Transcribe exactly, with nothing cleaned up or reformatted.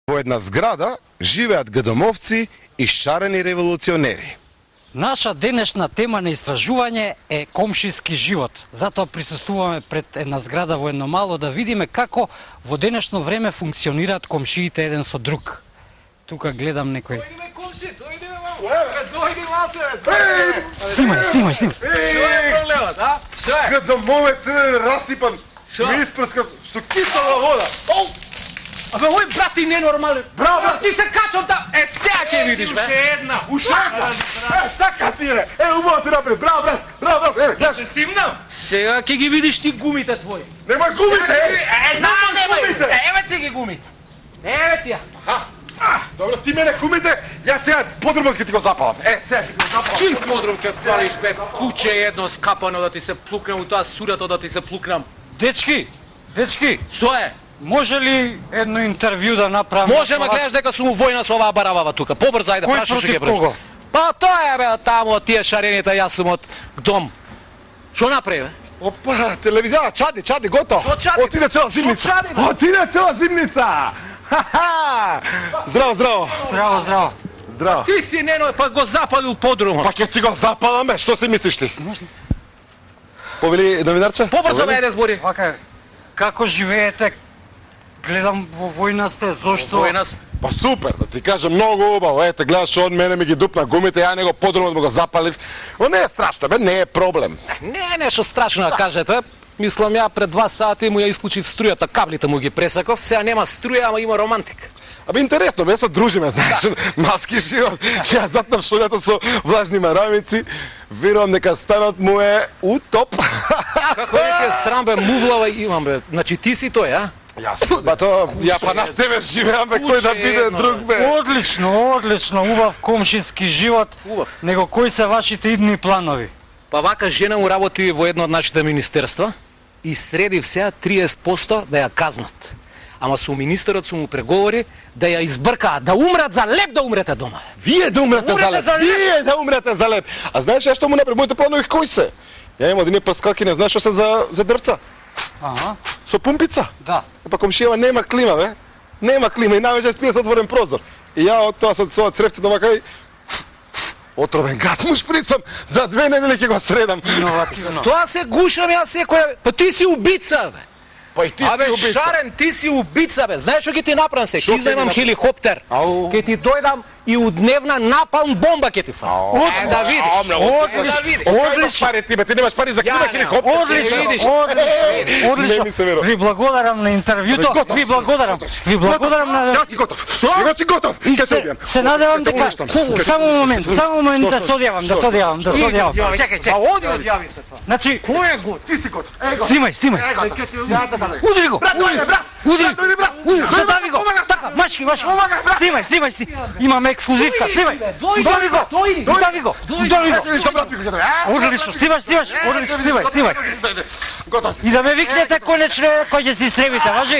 Во една зграда живеат ГДМовци и шарени револуционери. Наша денешна тема на истражување е комшиски живот. Затоа присуствуваме пред една зграда во едно мало да видиме како во денешно време функционираат комшиите еден со друг. Тука гледам некој. Дојдеме комши, дојдеме мамо. Дојди малце. Снимај, снимај, снимај. Што е проблемот, а? Што е? ГДМовец е расипан, ми испрска со кисела вода. Оу! Абе, ој брат ти ненормален. Браво, брат. Ти се качам та. Е, сега ќе видиш, бе. Уште една. Уште една. Е, така ти е. Е, убаво ти напред. Браво, брат. Браво, брат. Е, гледаш. Се стимнам. Сега ќе ги видиш ти гумите твои. Немај гумите. Е, на, Немај немај. гумите. Еве ти ги гумите. Еве ти ја. Добро, ти мене гумите, јас сега подробно ќе ти го запалам. Е, сега ќе ти го запалам. Чим подром ќе фалиш, бе, куче едно скапано да ти се плукнам, у тоа сурато да ти се плукнам. Дечки, дечки, Што е? може ли едно интервју да направиме? Може, ма гледаш дека сум војна со оваа барабава тука. Побрзо, ајде, Кој прашаш што против ќе прашаш. кого? Па тоа е, бе, таму од тие шарените, јас сум од дом. Што направи, бе? Опа, телевизија, чади, чади, готово. Што чади? Отиде цела зимница. Што чади, бе? Отиде цела зимница. Ха-ха! Здраво, здраво. Здраво, здраво. Здраво. Ти си нено, па го запалил подрумот. Па ќе ти го запалам, бе, што си мислиш ти? Повели новинарче? Побрзо, бе, Повели? ајде збори. Вака, како живеете? Гледам во војна сте, зошто? Војна сме. Па супер, да ти кажам, многу убаво. Ете, гледаш, од мене ми ги дупна гумите, ја него подрумот му го запалив. Но не е страшно, бе, не е проблем. Не е нешто страшно да кажете. Мислам, ја пред два сати му ја исклучив струјата, каблите му ги пресаков. Сега нема струја, ама има романтика. Абе, интересно, бе, се дружиме, знаеш, малски живот. Ја затнав шолјата со влажни марамици, верувам дека станот му е утоп. Како не ти е срам, бе, мувлава имам, бе. Значи ти си тој, а? Јас, ба то, ја па на тебе живеам, бе, кој да Куче биде едно, друг, бе. Одлично, одлично, убав комшиски живот. Убав. Него кои се вашите идни планови? Па вака жена му работи во едно од нашите министерства и среди сега триесет проценти да ја казнат. Ама со министерот сум му преговори да ја избркаат, да умрат за леп, да умрете дома. Вие да умрете за Умрете леп. за леп. Вие да умрете за леп. А знаеш ја што му направи? Моите планови кои се? Ја имам одини паскалки, не знаеш што се за за дрвца. Ага, Со пумпица. да. Па комшијава нема клима, бе. Нема клима и навеќе спие со отворен прозор. И ја од тоа со тоа цревцето вака и отровен газ му шприцам, за две недели ќе го средам. Иновативно. Тоа се гушам јас секоја... Па ти си убица, бе. Па и ти Абе, си убица. Шарен, ти си убица, бе. Знаеш што ќе ти направам се? Шо Ќе ќе изнајмам ми хеликоптер. Ау. Ќе ти дојдам и у дневна напалм бомба ќе ти фалам. Е, да видиш. Е, да видиш. Одлично. Пари ти, бе, ти немаш пари за клима Ја, хеликоптер. одлично, Видиш? Одлично, одлично. Не ми се верува. Ви благодарам на интервјуто. Готов Ви си. благодарам. Ви благодарам на... Сега си готов. Сега си готов. И Ќе те се, убијам. се надевам Ќе те дека... уништам. Ќе- Само момент, само момент да се одјавам, да се одјавам, да се одјавам. Чекај, Па чекај. оди одјави се тоа. Значи, Кој е год? Ти си готов. Е, готов. снимај, снимај. Е, готов. Сега те задам. Удари го. Брат, дојде, брат. Удари. Брат, дојде, брат. Удари, Дојде, задави го. помагаш, брат. Така, машки, машки. Помагаш, брат. Снимај, снимај, снимај. Имаме ексклузивка. Снимај. Удари го. дојди. Удари го. Удари Ето го. ли со брат ми ќе дојде. А? Одлично, снимаш, снимаш. Одлично, снимај, снимај. Готов си. И да ме викнете конечно кој ќе се истребите, важи?